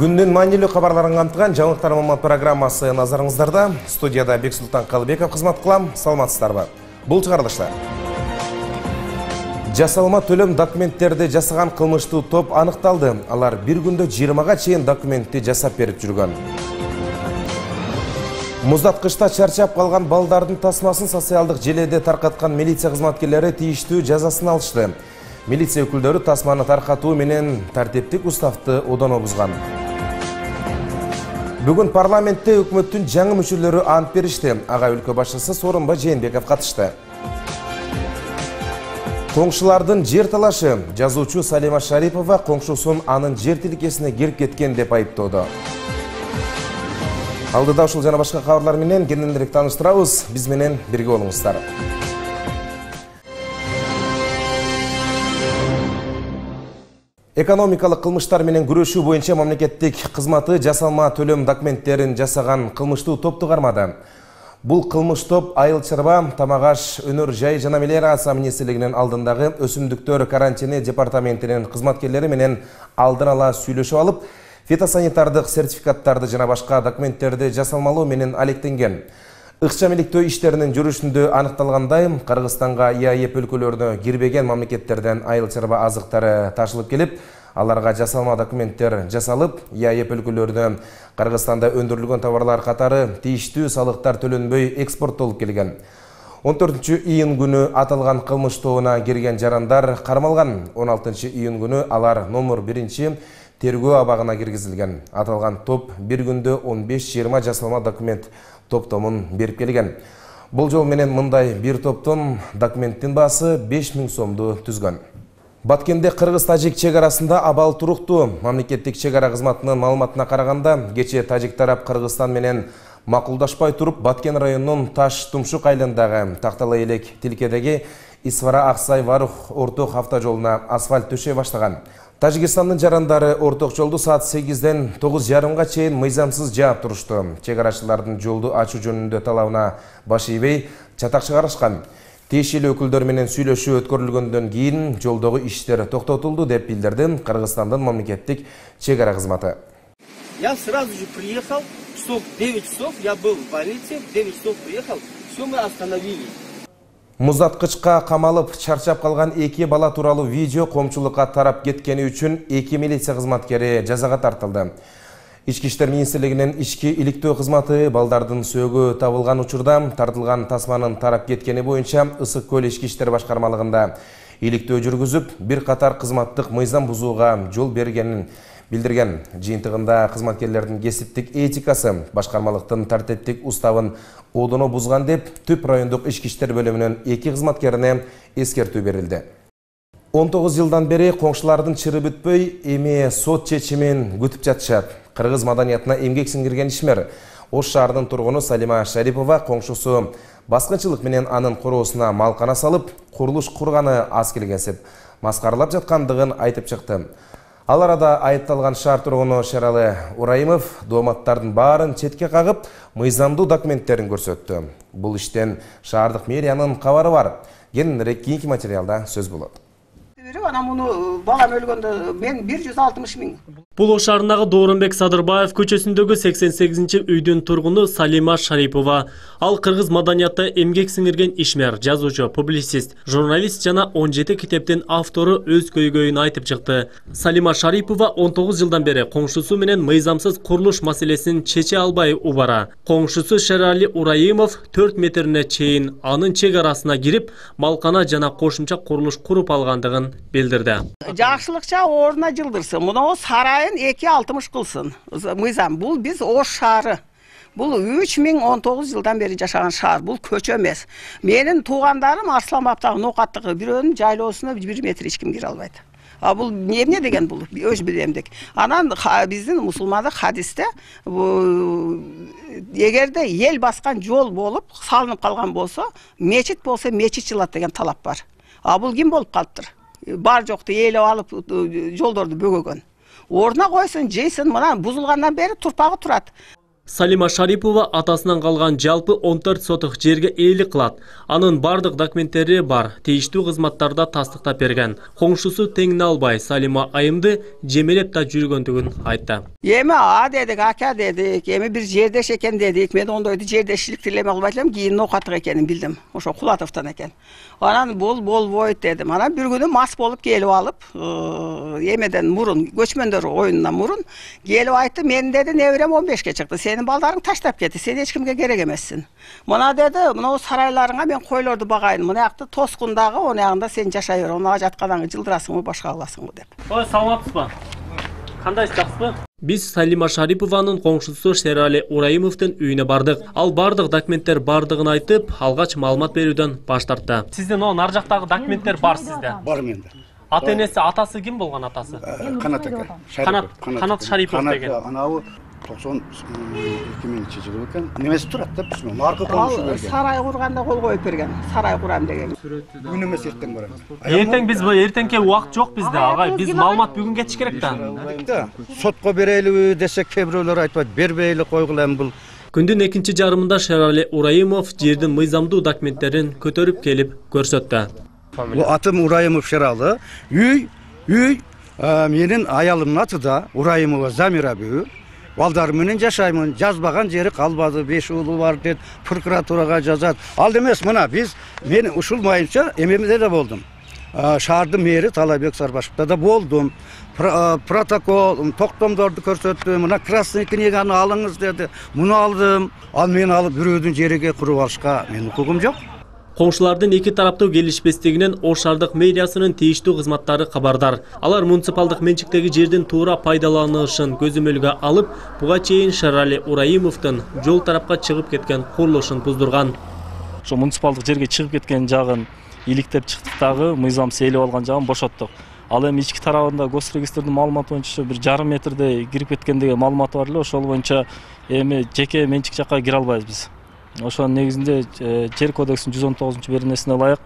Күндүн маанилүү кабарларын камтыган жаңылыктар маалымат программасы назарыңыздарда. Студияда Бексултан Калыбеков кызмат кылам. Саламатсыздарбы? Бул чыгарылышта жасалма төлөм документтерди жасаган кылмыштуу топ аныкталды. Алар бир күндө 20га чейин документти жасап берип жүргөн. Муздаткычта чарчап калган балдардын тасмасын социалдык желеде таркаткан милиция кызматкерлери тийиштүү жазасын алышты. Милиция өкүлдөрү тасманы таркатуу менен тартиптик уставды одоно бузган. Бүгүн парламентте өкмөттүн жаңы мүчөлөрү ант беришти. Ага өлкө башчысы Сооронбай Жээнбеков катышты. Коңшулардын жер талашы. Жазуучу Салима Шарипова коңшусун анын жер тилкесине кирип кеткен деп айыптоодо. Алдыда ушул жана башка кабарлар менен кененирээк тааныштырабыз. Биз менен бирге болуңуздар. Экономикалык кылмыштар менен күрөшүү боюнча мамлекеттик кызматы жасалма төлөм документтерин жасаган кылмыштуу топту кармады. Бул кылмыш топ Айыл чарба, Тамак-аш, Өнөр жай жана мелиорация министрлигинин алдындагы өсүмдүктөр карантини департаментинин кызматкерлери менен алдын ала сүйлөшүп алып, фитосанитардык сертификаттарды жана башка документтерди жасалмалоо менен алектенген. Ыкчам иликтөө иштеринин жүрүшүндө аныкталгандай, Кыргызстанга ИАЭП өлкөлөрүнө кирбеген мамлекеттерден айыл чарба азыктары ташылып келип, аларга жасалма документтер жасалып, ИАЭП өлкөлөрүнө Кыргызстанда өндүрүлгөн товарлар катары тийиштүү салыктар төлөнбөй экспорттолуп келген. 14-июнь күнү аталган кылмыш тобуна кирген жарандар кармалган. 16-июнь күнү алар номер 1 тергөө абагына киргизилген. Аталган топ бир күндө 15-20 жасалма документ топтомун берип келген. Бул жол менен мындай бир топтон документтин баасы 5000 сомду түзгөн. Баткенде Кыргыз-Тажик чек арасында абал туруктуу. Мамлекеттик чек ара кызматынын маалыматына караганда, кечээ Тажик тарап Кыргызстан менен макулдашпай туруп, Баткен районунун Таш-Тумшук айылындагы Тактала элек тилкедеги Исвара-Аксай-Варух орток автожолуна асфальт төшөй баштаган. Тажикстандын жарандары орток жолду саат 8-ден 9:30га чейин мыйзамсыз жаап турушту. Чек арачылардын жолду ачуу жөнүндө талабына баш ийбей чатак чыгарышкан. Тиешелүү өкүлдөр менен сүйлөшүү өткөрүлгөндөн кийин жолдогу иштер токтотулду деп билдирди Кыргызстандын мамлекеттик чек ара кызматы. Я сразу же приехал, часов 9 часов, я был в больнице, в 9 часов приехал, все мы остановили. Муздаткычка камалып чарчап калган 2 бала тууралуу видео коомчулукка тарап кеткени үчүн 2 милиция кызматкери жазага тартылды. Ички иштер министрлигинин ички иликтөө кызматы балдардын сөөгү табылган учурда тартылган тасманын тарап кеткени боюнча Ысык көл ички иштер башкармалыгында иликтөө жүргүзүп, бир катар кызматтык мыйзам бузууга жол бергенин билдирген. Жыйынтыгында кызматкерлердин кесиптик этикасы башкармалыктын тартиптик уставын одоно бузган деп Түп райондук ички иштер бөлүмүнүн 2 кызматкерине эскертүү берилди. 19 жылдан бери коңшулардын чыры бүтпөй, эми сот чечимин күтүп жатышат. Кыргыз маданиятына эмгек сиңдирген ишмер Ош шаарынын тургуну Салима Шарипова коңшусу баскынчылык менен анын короосуна малкана салып, курулуш курганы аз келгенсип, маскаралап жаткандыгын айтып чыкты. Ал арада айыпталган шаар тургуну Шералы Урайымов дооматтардын баарын четке кагып, мыйзамдуу документтерин көрсөттү. Бул иштен шаардык мэриянын кабары бар. Кененирээк кийинки материалда сөз болот. Ана муну балам өлгөндө мен 160 000. Бул Ош шаарындагы Дооронбек Садырбаев көчөсүндөгү 88-үйдүн тургуну Салима Шарипова. Ал кыргыз маданиятта эмгек сиңирген ишмер, жазуучу, публицист, журналист жана 17 китептин автору өз көйгөйүн айтып чыкты. Салима Шарипова 19 жылдан бери коңшусу менен мыйзамсыз курулуш маселесин чече албай убара. Коңшусу Шерали Урайымов 4 метрине чейин анын чек арасына кирип, малкана жана кошумча курулуш куруп алгандыгын билдирди. Жакшылыкча ордуна жылдырсын. Муну сарайын 2.60 кылсын. Мыйзам бул биз Ош шаары. Бул 3019 жылдан бери жашаган шаар. Бул көчө эмес. Менин туугандарым Арсланбаптагы Ноокаттагы бирөөнүн жайлоосуна 1 метр эч ким кире албайт. А бул эмне деген бул? Өз билемдик. Анан биздин мусулмандык хадисте эгерде эл баскан жол болуп салынып калган болсо, мечит болсо мечит жылат деген талап бар. А бул ким болуп калыптыр? Бар жокту ээлеп алып жолдорду бөгөгөн. Ордуна койсун, жейсин, мына бузулгандан бери турпагы турат. Салима Шарипова атасынан калган жалпы 14 сотық жерге ээлик кылат. Анын бардык документтери бар, тийиштүү кызматтарда тастыктап берген. Коңшусу теңине албай Салима айымды жемелеп да жүргөндүгүн айтты. Эми дедик, ака дедик, эми бир жердеш экен дедик. Мен ондойду жердешчилик тилеме кылбайт элем, кийин окаттык экенин билдим. Ошо Кулатовдон экен. Анан бул болбойт дедим. Анан бир күнү мас болуп келип алып, эмеден мурун, көчмөндөр оюнунан мурун келип айтты, мен деди неберем 15ке чыкты. Сенин балдарың таштап кетти, сен эч кимге керек эмессин. Мына деди, мына сарайларыңа мен койлорду багайын. Мына жакты тоскундагы, оны ягында сен жашай бер. Мына жатканыңы жылдырасыңбы, башка кыласыңбы деп. Ой, саламатсызбы? Кандайсыз, жакшысызбы? Биз Салима Шарипованын коңшусу Шерали Ураимовдун үйүнө бардык. Ал бардык документтер бардыгын айтып, алгач маалымат берүүдөн баш тартты. Сиздин ар жактагы документтер бар сизде? Бар менде. Ата-энеси, атасы ким болгон атасы? Канат ака. Канат Шарипов деген. Анау 92 жылы экен. Немеси турат да биз менен. Аркы коңшу берген. Сарай курганда кол коюп берген. Сарай курам деген. Бүгүн эмес эртең барам. Эртең биз эртеңке убакыт жок бизде, агай. Биз маалымат бүгүн кетиш керек да. Сотко берелиби десек, кээ бирөөлөр айтпайт, бербейли койгула бул. Күндүн экинчи жарымында Шерали Ураимов жердин мыйзамдуу документтерин көтөрүп келип көрсөттү. Бул атым Ураимов Шералы. Үй менин аялымдын аты да Ураимова Замира бүү. Балдар менен жашаймын, жазбаган жери калбады, 5 уулу бар деп прокуратурага жазат. Ал эмес, мына мен ушул майынча эмемде да болдум. Шаардын мэри Талайбек Сарбашевда да болдум. Протокол, токтомдорду көрсөттүм. Мына красный книганы алыңыз деди. Муну алдым. Ал мен алып бирөөдүн жериге куруп алышка менин укугум жок. Коңшулардын эки тараптуу келишпестигинен Ош шаардык мэриясынын тийиштүү кызматтары кабардар. Алар муниципалдык менчиктеги жердин туура пайдаланылышын көзөмөлгө алып, буга чейин Шерали Ураимовдун жол тарапка чыгып кеткен курулушун буздурган. Ошо муниципалдык жерге чыгып кеткен жагын иликтеп чыктык дагы, мыйзам сейлеп алган жагын бошоттук. Ал эми ички тарабында госрегистрдин маалыматы боюнча бир жарым метрде кирип кеткен деген маалыматы бар эле. Ошол боюнча эми жеке менчик жакка кире албайбыз биз. Ошонун негизинде жер кодексинин 119-беренесине ылайык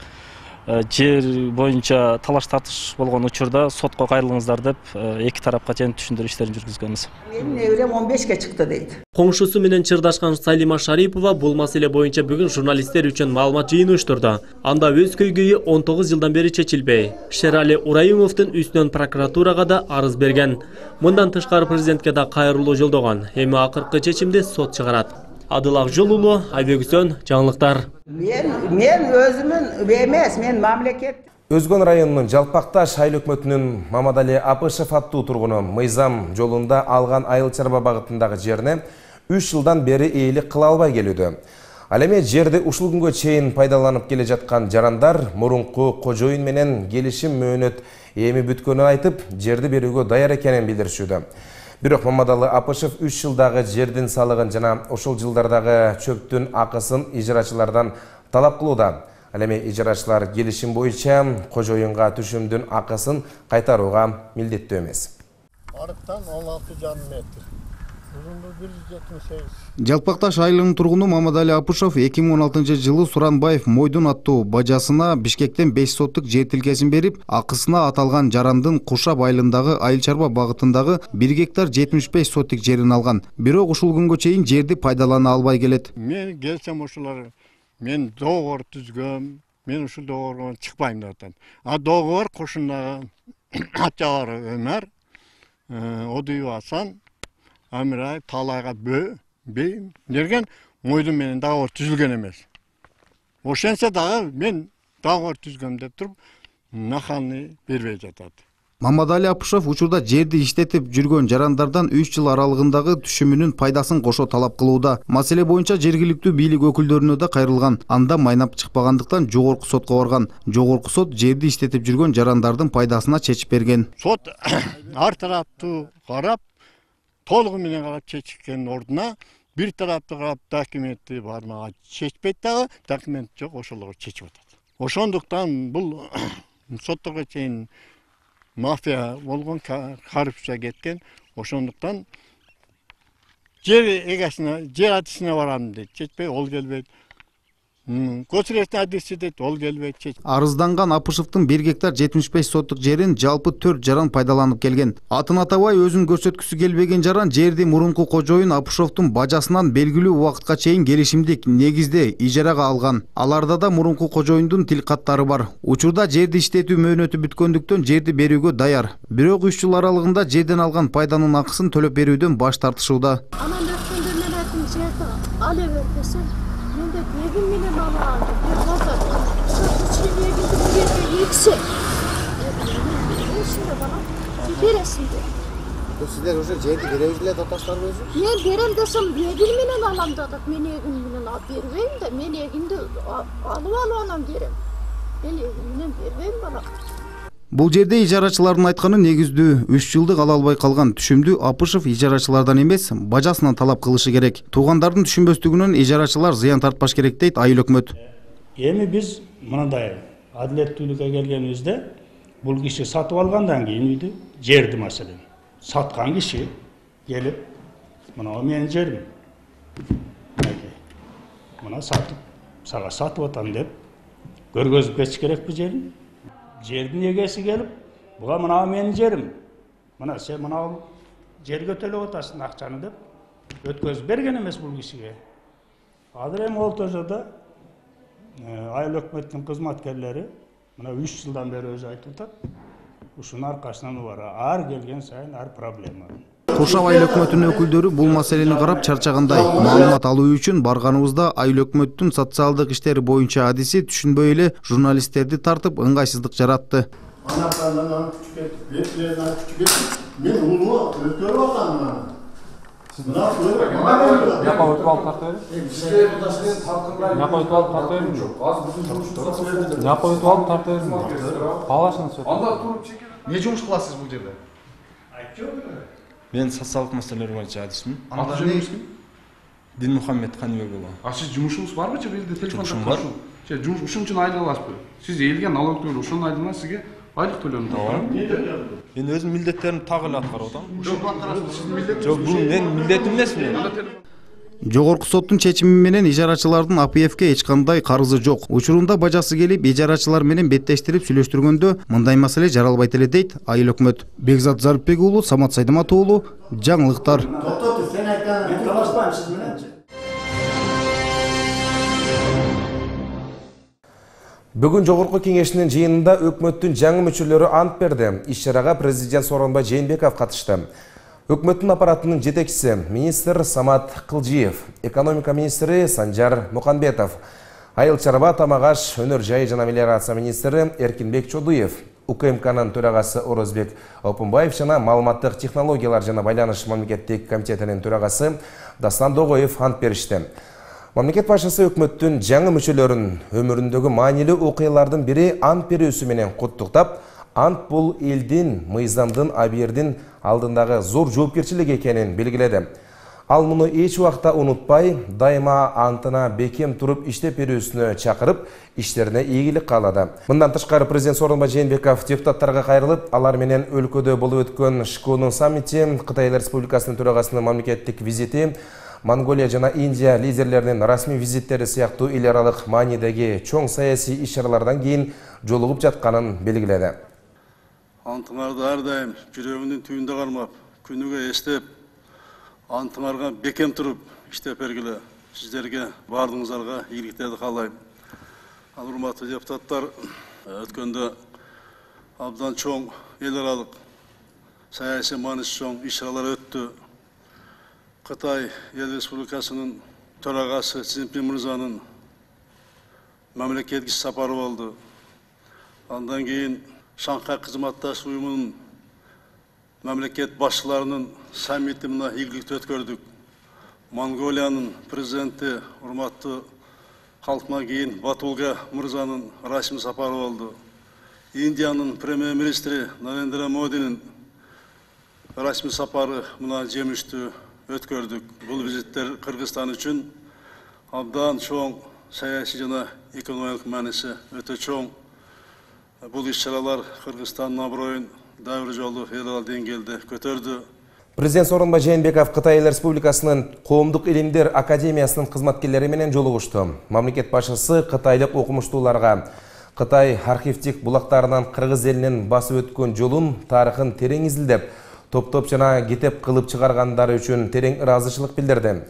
жер боюнча талаш тартыш болгон учурда сотко кайрылыңыздар деп эки тарапка чейин түшүндүрүү иштерин жүргүзгөнбүз. Менин неберем 15ке чыкты дейт. Коңшусу менен чырдашкан Салима Шарипова бул маселе боюнча бүгүн журналисттер үчүн маалымат жыйыны уюштурду. Анда өз көйгөйү 19 жылдан бери чечилбей. Шерали Ураимовдун үстүнөн прокуратурага да арыз берген. Мындан тышкары президентке да кайрылуу жолдогон. Эми акыркы чечимди сот чыгарат. Адыл Акжолулу, Айбекүсөн, жаңылыктар. Мен өзүмүн эмес, мен мамлекет. Өзгөн районунун Жалпакташ айыл өкмөтүнүн Мамадали Апышев аттуу тургуну мыйзам жолунда алган айыл чарба багытындагы жерине 3 жылдан бери ээлик кыла албай келүүдө. Ал эми жерди ушул күнгө чейин пайдаланып келе жаткан жарандар мурунку кожоюн менен келишим мөөнөт эми бүткөнүн айтып, жерди берүүгө даяр экенин билдиришүүдө. Бирок Мамадалы Апышев 3 жылдагы жердин салыгын жана ошол жылдардагы чөптүн акысын ижарачылардан талап кылууда. Ал эми ижарачылар келишим боюнча кожоюнга түшүмдүн акысын кайтарууга милдеттүү эмес. Арыктан 16,5 метр. Uzunluğu 178. Жалпакташ айылынын тургуну Мамадали Апышев 2016-жылы Суранбаев Мойдун аттуу бажасына Бишкектен 5 соттук жер тилкесин берип, акысына аталган жарандын Кушап айылындагы айыл чарба багытындагы 1 гектар 75 соттук жерин алган. Бирок ушул күнгө чейин жерди пайдалана албай келет. Мен келсем ошолор мен доогор түзгөм, мен ушул доогорго чыкпайм деп атат. А доогор кошуна атчагары Өмөр, Одуй Асан, Амирай, Талайга бейм дерген Мойдун менен доогор түзүлгөн эмес. Ошентсе дагы мен доогор түзгөм деп туруп, нахалны бербей жатат. Мамадали Апышев учурда жерди иштетип жүргөн жарандардан 3 жыл аралыгындагы түшүмүнүн пайдасын кошо талап кылууда. Маселе боюнча жергиликтүү бийлик өкүлдөрүнө да кайрылган. Анда майнап чыкпагандыктан жогорку сотко барган. Жогорку сот жерди иштетип жүргөн жарандардын пайдасына чечип берген. Сот ар тараптуу карап, толугу менен карап чечкендин ордуна бир тараптуу карап документи бар мага чечпейт дагы, документ жок, ошолорго чечип атат. Ошондуктан бул сотторго чейин мафия болгон, коррупция кеткен. Ошондуктан жер эгесине, жер атысына барам дейт, чечпей ол келбейт. Госрегистр адреси дейт, ол келбейт. Арызданган Апышевдин 1 гектар 75 соттук жерин жалпы 4 жаран пайдаланып келген. Атын атабай өзүн көрсөткүсү келбеген жаран жерди мурунку кожоюн Апышевдин бажасынан белгилүү убакытка чейин келишимдик негизде ижарага алган. Аларда да мурунку кожоюндун тил каттары бар. Учурда жерди иштетүү мөөнөтү бүткөндүктөн жерди берүүгө даяр. Бирок 3 жыл аралыгында жерден алган пайданын акысын төлөп берүүдөн баш тартышууда. Анан өткөндө мен айттым, жерди ала бер десем, менде эгин менен ала алдым. Базар. Ошол эгинди жерге эксе. Ошондо бала бересиң деп. Сиздер уже жерди беребиз эле деп таштарбызбы? Мен берем десем, эгин менен алам дедик. Мен эгин менен алып бербейм да, мен эгинди алып анан берем. Мен эгин менен бербейм бала. Бул жерде ижарачылардын айтканы негиздүү. 3 жылдык ала албай калган түшүмдү Апышев ижарачылардан эмес, бажасынан талап кылышы керек. Туугандардын түшүнбөстүгүнөн ижарачылар зыян тартпаш керек дейт айыл өкмөт. Эми биз мындай адилеттүүлүккө келгенибизде бул киши сатып алгандан кийин үйдү, жерди маселен саткан киши келип, мына менин жерим. Мына сатып, сага сатып атам деп көргөзүп кетиш керек бу жерин. Жердин эгеси келип, буга мына менин жерим. Мына сен мына жерге төлөп атасың акчаны деп өткөзүп берген эмес бул кишиге. Азыр эми ол тожодо айыл өкмөттүн кызматкерлери мына 3 жылдан бери өзү айтып атат. Ушунун аркасынан бар. Ар келген сайын ар проблема. Куршап айыл өкмөтүнүн өкүлдөрү бул маселени карап чарчагандай. Маалымат алуу үчүн барганыбызда айыл өкмөттүн социалдык иштери боюнча адиси түшүнбөй эле журналисттерди тартып ыңгайсыздык жаратты. Мен улуу өткөрүп атам. Не жумуш кыласыз бул жерде? Мен социалдык маселелер боюнча адисмин. Аты жөнүңүз ким? Дилмухаммед Каныбек уулу. Сиз жумушуңуз барбы же бизде телефондо? Жумушум бар. Жумуш ушун үчүн айлык аласызбы? Сиз элге налог төлөп, ошонун айдына сизге айлык төлөм тапкан. Мен өзүм милдеттеримди так эле аткарып атам. Сиздин милдетиңиз? Жок, бул менин милдетим эмес менин. Жогорку соттун чечими менен ижарачылардын АПФке эч кандай карызы жок. Учурунда бажасы келип ижарачылар менен беттештирип сүйлөштүргөндө мындай маселе жаралбайт эле дейт айыл өкмөт. Бекзат Зарипбек уулу, Самат Сайдамат уулу, жаңылыктар. Сен айткан талашпайм сиз менен. Бүгүн жогорку кеңештин жыйынында өкмөттүн жаңы мүчөлөрү ант берди. Иш-чарага президент Сооронбай Жээнбеков катышты. Өкмөттүн аппаратынын жетекчиси министр Самат Кылжиев, экономика министри Санжар Муканбетов, айыл чарба тамагаш өнөр жай жана мелиорация министри Эркинбек Чодуев, УКМКнын төрагасы Орозбек Опунбаев жана маалыматтык технологиялар жана байланыш мамлекеттик комитетинин төрагасы Дастан Догоев ант беришти. Мамлекет башчысы өкмөттүн жаңы мүчөлөрүн өмүрүндөгү маанилүү окуялардын бири ант берүүсү менен куттуктап, ант бул элдин, мыйзамдын, абийирдин алдындагы зор жоопкерчилик экенин белгиледи. Ал муну эч убакта унутпай, дайыма антына бекем туруп иштеп берүүсүнө чакырып, иштерине ийгилик каалады. Мындан тышкары президент Сооронбай Жээнбеков депутаттарга кайрылып, алар менен өлкөдө болуп өткөн ШКОнун саммити, Кытай Республикасынын төрагасынын мамлекеттик визити, Монголия жана Индия лидерлеринин расмий визиттери сыяктуу эл аралык маанидеги чоң саясий иш-чаралардан кийин жолугуп жатканын белгиледи. Антыңарды ар дайым жүрөгүнүн түбүндө кармап, күнүгө эстеп, антыңарга бекем туруп иштеп бергиле. Сиздерге бардыгыңыздарга ийгиликтерди каалайм. Ал урматтуу депутаттар, өткөндө абдан чоң эл аралык саясий мааниси чоң иш-чаралар өттү. Кытай Эл Республикасынын төрагасы Си Цзиньпин мырзанын мамлекеттик сапары болду. Андан кийин Шанхай кызматташ уюмунун мамлекет башчыларынын саммити мына ийгиликтүү өткөрдүк. Монголиянын президенти урматтуу Халтмаа кийин Батулга мырзанын расмий сапары болду. Индиянын премьер-министри Нарендра Модинин расмий сапары мына жемиштүү өткөрдүк. Бул визиттер Кыргызстан үчүн абдан чоң саясий жана экономикалык мааниси өтө чоң. Бул иш-чаралар Кыргызстандын аброюн дайыр жолу эл аралык деңгээлде көтөрдү. Президент Сооронбай Жээнбеков Кытай Республикасынын Коомдук илимдер академиясынын кызматкерлери менен жолугушту. Мамлекет башчысы кытайлык окумуштууларга Кытай архивдик булактарынан кыргыз элинин басып өткөн жолун, тарыхын терең изилдеп, топтоп жана китеп кылып чыгаргандары үчүн терең ыраазычылык билдирди.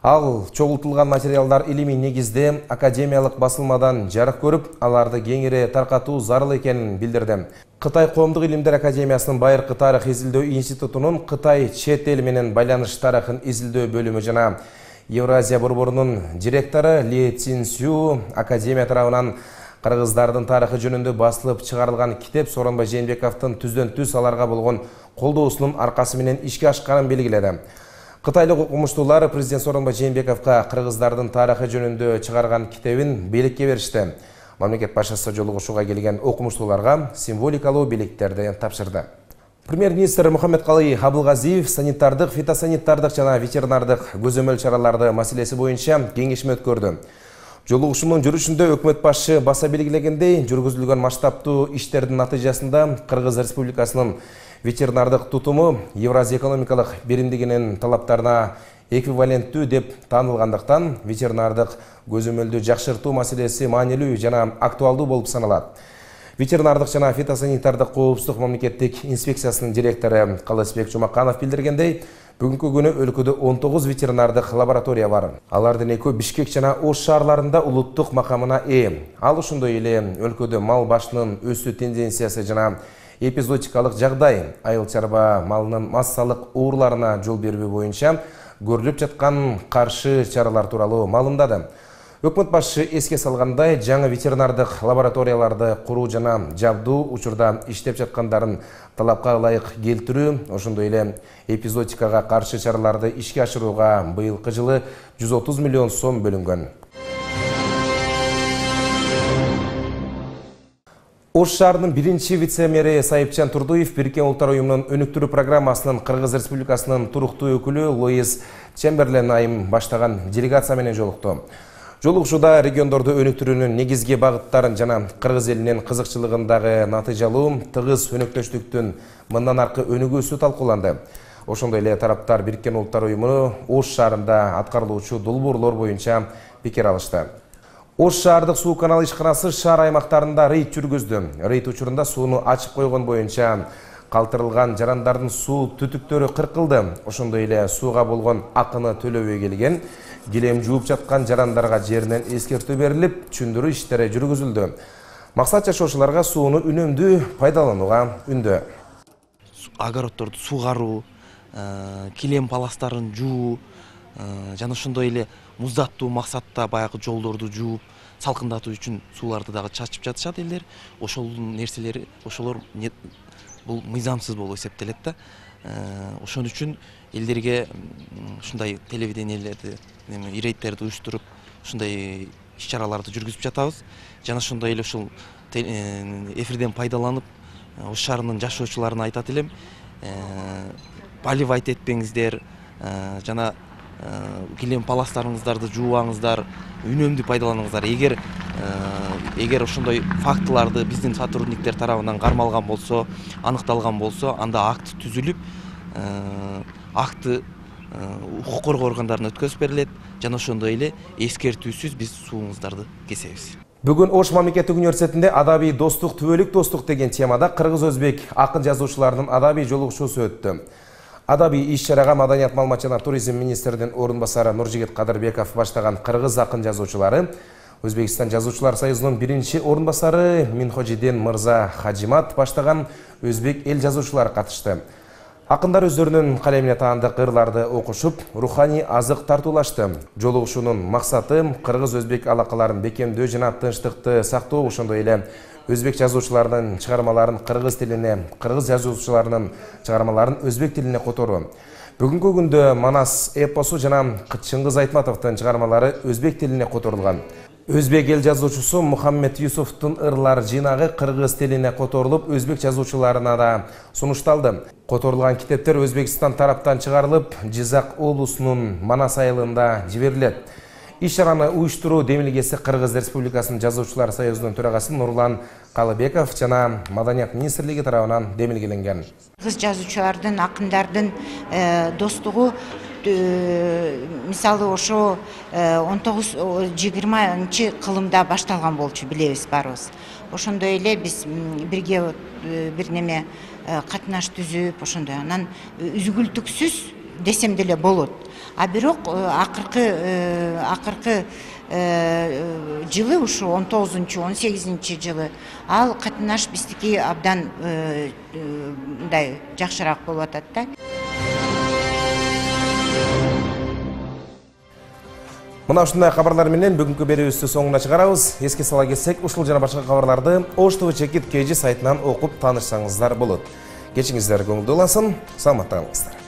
Ал чогултулган материалдар илимий негизде академиялык басылмадан жарык көрүп, аларды кеңири таркатуу зарыл экенин билдирди. Кытай Коомдук илимдер академиясынын Байыркы тарых изилдөө институтунун Кытай чет эл менен байланыш тарыхын изилдөө бөлүмү жана Евразия борборунун директору Ли Цинсю академия тарабынан кыргыздардын тарыхы жөнүндө басылып чыгарылган китеп Сооронбай Жээнбековдун түздөн-түз аларга болгон колдоосунун аркасы менен ишке ашканын белгиледи. Кытайлык окумуштуулар президент Сооронбай Жээнбековго кыргыздардын тарыхы жөнүндө чыгарган китебин белекке беришти. Мамлекет башчысы жолугушууга келген окумуштууларга символикалуу белектерди тапшырды. Премьер-министр Мухаммедкалый Абылгазиев санитардык, фитосанитардык жана ветеринардык көзөмөл чараларды маселеси боюнча кеңешме өткөрдү. Жолугушуунун жүрүшүндө өкмөт башчы баса белгилегендей, жүргүзүлгөн масштабтуу иштердин натыйжасында Кыргыз Республикасынын ветеринардык тутуму Евразия экономикалык биримдигинин талаптарына эквиваленттүү деп таанылгандыктан ветеринардык көзөмөлдү жакшыртуу маселеси маанилүү жана актуалдуу болуп саналат. Ветеринардык жана фитосанитардык коопсуздук мамлекеттик инспекциясынын директору Калысбек Жумаканов билдиргендей, бүгүнкү күнү өлкөдө 19 ветеринардык лаборатория бар. Алардын 2 Бишкек жана Ош шаарларында улуттук макамына ээ. Ал ошондой эле өлкөдө мал башынын өсүү тенденциясы жана эпизодикалык жагдай, айыл чарба малынын массалык ооруларына жол бербөө боюнча көрүлүп жаткан каршы чаралар тууралуу маалымдады. Өкмөт башчы эске салгандай, жаңы ветеринардык лабораторияларды куруу жана жабдуу учурда иштеп жаткандарын талапка ылайык келтирүү, ошондой эле эпизодикага каршы чараларды ишке ашырууга быйылкы жылы 130 миллион сом бөлүнгөн. Ош шаарынын биринчи вице-мэри Сайыпчан Турдуев Бириккен Улуттар уюмунун өнүктүрүү программасынын Кыргыз Республикасынын туруктуу өкүлү Луис Чемберлен айым баштаган делегация менен жолукту. Жолугушууда региондорду өнүктүрүүнүн негизги багыттарын жана кыргыз элинин кызыкчылыгындагы натыйжалуу тыгыз өнөктөштүктүн мындан аркы өнүгүүсү талкууланды. Ошондой эле тараптар Бириккен Улуттар уюму Ош шаарында аткарылуучу долбоорлор боюнча пикир алышты. Ош шаардык суу каналы ишканасы шаар аймактарында рейд жүргүздү. Рейд учурунда сууну ачып койгон боюнча калтырылган жарандардын суу түтүктөрү кыркылды. Ошондой эле сууга болгон акыны төлөбөй келген, килем жууп жаткан жарандарга жеринен эскертүү берилип, түшүндүрүү иштери жүргүзүлдү. Максат жашоочуларга сууну үнөмдүү пайдаланууга үндөө. Огороддорду сугаруу, килем паластарын жуу, жана ошондой эле муздаттуу максатта баягы жолдорду жууп, салкындатуу үчүн сууларды дагы чачып жатышат элдер. Ошол нерселер, ошолор бул мыйзамсыз болуп эсептелет да. Ошон үчүн элдерге ушундай телевидениелерди, рейдтерди уюштуруп, ушундай иш-чараларды жүргүзүп жатабыз. Жана ошондой эле ушул эфирден пайдаланып, Ош шаарынын жашоочуларына айтат элем, поливать этпеңиздер, жана килем паластарыңыздарды жуубаңыздар, үнөмдүү пайдаланыңыздар. Эгер ошондой фактыларды биздин сотрудниктер тарабынан кармалган болсо, аныкталган болсо, анда акт түзүлүп, акты укук коргоо органдарына өткөзүп берилет, жана ошондой эле эскертүүсүз биз сууңуздарды кесебиз. Бүгүн Ош мамлекеттик университетинде адабий достук, түбөлүк достук деген темада кыргыз-өзбек акын жазуучуларынын адабий жолугушуусу өттү. Адабий иш-чарага Маданият, маалымат жана туризм министринин орун басары Нуржигит Кадырбеков баштаган кыргыз акын жазуучулары, Өзбекстан жазуучулар союзунун биринчи орун басары Минхожиден Мырза Хаджимат баштаган өзбек эл жазуучулары катышты. Акындар өздөрүнүн калемине таандык ырларды окушуп, руханий азык тартуулашты. Жолугушуунун максаты кыргыз-өзбек алакаларын бекемдөө жана тынчтыкты сактоо, ошондой эле өзбек жазуучуларынын чыгармаларын кыргыз тилине, кыргыз жазуучуларынын чыгармаларын өзбек тилине которуу. Бүгүнкү күндө Манас эпосу жана Чыңгыз Айтматовдун чыгармалары өзбек тилине которулган. Өзбек эл жазуучусу Мухаммед Юсуфтун ырлар жыйнагы кыргыз тилине которулуп, өзбек жазуучуларына да сунушталды. Которулган китептер Өзбекстан тараптан чыгарылып, Жизак облусунун Манас айылында жиберилет. Иш чараны уюштуруу демилгеси Кыргыз Республикасынын Жазуучулар союзунун төрагасы Нурлан Калыбеков жана Маданият министрлиги тарабынан демилгеленген. Кыргыз жазуучулардын, акындардын достугу мисалы ошо 19-20 кылымда башталган болчу, билебиз баарыбыз. Ошондой эле биз бирге бир неме катнаш түзүп, ошондой анан үзгүлтүксүз десем деле болот. А бирок акыркы жылы ушу 19-18 жылы ал катнаш биздики абдан мындай жакшыраак болуп атат да. Мына ушундай кабарлар менен бүгүнкү берүүбүздү соңуна чыгарабыз. Эске сала кетсек, ушул жана башка кабарларды Ош ТВ Чекит КЖ сайтынан окуп таанышсаңыздар болот. Кечиңиздер көңүлдүү улансын, саламатта калыңыздар.